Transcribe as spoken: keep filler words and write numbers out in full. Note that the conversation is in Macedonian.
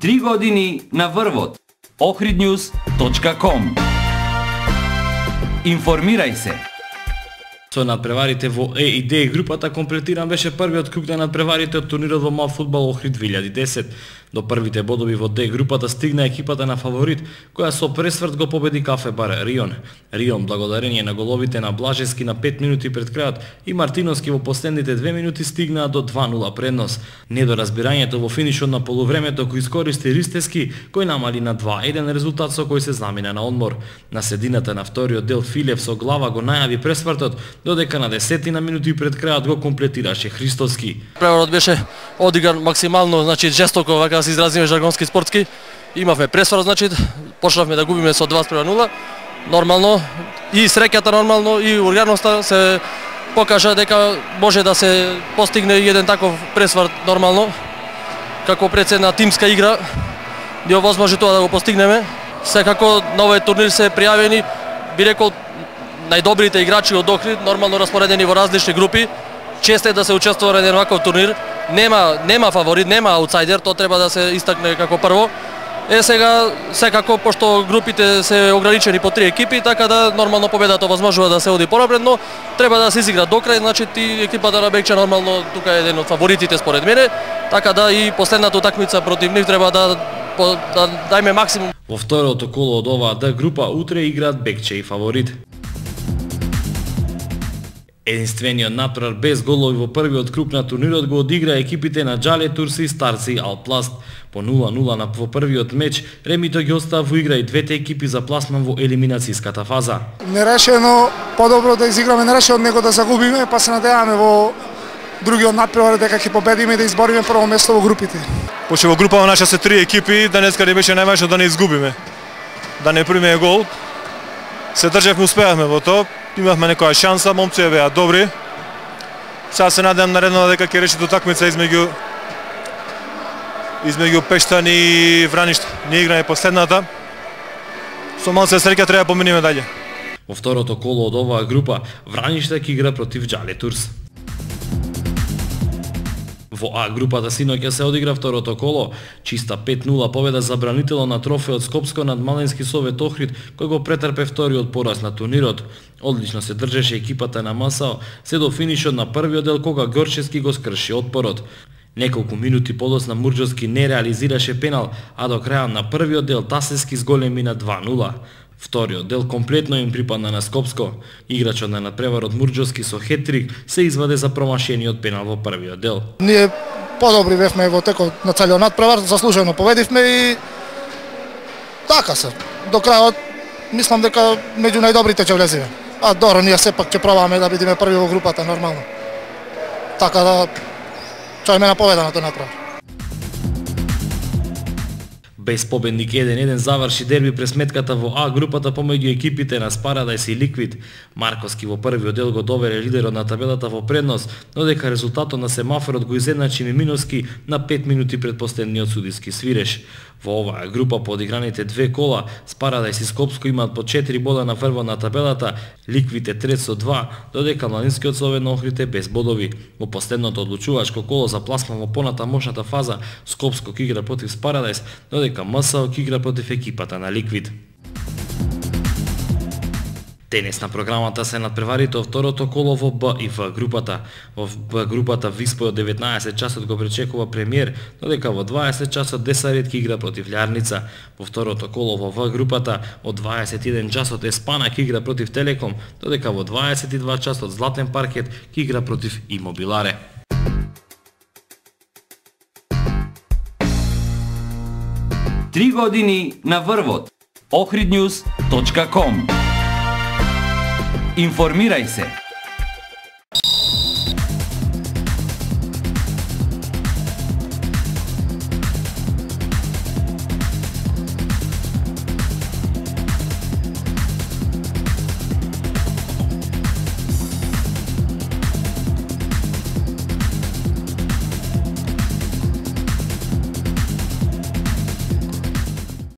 Три години на врвот. Охридnews точка ком. Информирај се. Со надпреварите во Е и Д групата комплетиран беше првиот круг на надпреварите од турнирот во мал фудбал Охрид две илјади и десет. До првите бодови во Д групата стигна екипата на фаворит, која со пресврт го победи Кафе бар Рион. Рион, благодарение на головите на Блажевски на пет минути пред крајот и Мартиновски во последните две минути стигнаа до два нула предност. Недоразбирањето во финишот на полувремето кој искористи Ристевски, кој намали на два еден резултат со кој се замина на одмор. На средината на вториот дел Филев со глава го најави пресвртот, додека на десетина минути пред крајот го комплетираше Христовски. Преварот беше одигран максимално, значи жестоко, вака да се изразиме жаргонски спортски. Имавме пресврт, значи почнавме да губиме со два спрема нула. Нормално и среќата нормално и урганоста се покажа дека може да се постигне еден таков пресврт нормално. Како пред една тимска игра ни овозможи тоа да го постигнеме. Секако на овој турнир се пријавени, би рекол, најдобрите играчи од Охрид, нормално распоредени во различни групи. Често е да се учествува на еден ваков турнир. Нема нема фаворит, нема аутсайдер, тоа треба да се истакне како прво. Е сега секако пошто групите се ограничени по три екипи, така да нормално победата овозможува да се оди понапред, но треба да се изигра до крај, значи ти екипата на Бекче нормално тука е еден од фаворитите според мене, така да и последната утакмица против нив треба да по, да дајме максимум. Во второто коло од оваа Д група утре играат Бекче и фаворит. Единствениот натпревар без голови во првиот круг на турнирот го одигра екипите на Джале Турси и Старци и Алпласт. По нула нула на во првиот меч, ремито ги остава во игра и двете екипи за пласман во елиминацијската фаза. Нерешено, подобро да изиграме нерешено него да загубиме, па се надеваме во другиот натпревар дека ќе победиме и да избориме прво место во групите. Пошто во групава наша се три екипи, денеска ни беше најважно да не изгубиме, да не примеме гол. Се државме, успеавме во тоа. Имавме некоја шанса, момците беа добри. Сега се надевам наредно дека ќе реши утакмица измеѓу измеѓу Пештан и Враниште. Ние играме последната. Со малце среќа треба да поминиме дале. Во второто коло од оваа група, Враниште ќе игра против Джале Турс. Во А групата синоќа се одигра второто коло, чиста пет нула победа за бранителот на трофеот Скопско над Маленски Совет Охрид, кој го претрпе вториот пораз на турнирот. Одлично се држеше екипата на МСО, се до финишот на првиот дел кога Горчевски го скрши отпорот. Неколку минути подоцна Мурџовски не реализираше пенал, а до крајот на првиот дел Тасевски зголеми на два нула. Вториот дел комплетно им припадна на Скопско. Играчот на надпреварот Мурџовски со хет-трик се изваде за промашениот пенал во првиот дел. Ние подобри бевме во текот на целиот надпревар, заслужено победивме и така се. До крајот мислам дека меѓу најдобрите ќе влеземе. А добро, ние сепак ќе пробаме да бидеме први во групата нормално. Така да чајме на победа на тој надпревар. Без победник еден еден заврши дерби пресметката во А групата помеѓу екипите на Спарадайс и Ликвид. Марковски во првиот дел го довере лидерот на табелата во предност, но дека резултатот на семафорот го изедначи Миминовски на пет минути пред последниот судиски свиреш. Во оваа група по одиграните две кола, Спарадайс и Скопско имаат по четири бода на врвот на табелата, Ликвид е трет со два, додека Младинскиот Совет на Охрид е без бодови. Во последното одлучувачко коло за пласман во понатамошната фаза, Скопско ќе игра против Спарадайс, додека МСО ќе игра против екипата на Ликвид. Денес на програмата се надпреварите од второто коло во Б и В групата. Во Б групата Виспој од деветнаесет часот го пречекува премиер, додека во дваесет часот Десарет ќе игра против Лјарница. Во второто коло во В групата од дваесет и еден часот Еспана ќе игра против Телеком, додека во дваесет и два часот Златен паркет ќе игра против Имобиларе. Три години на врвот. Охридnews точка ком. Информирај се.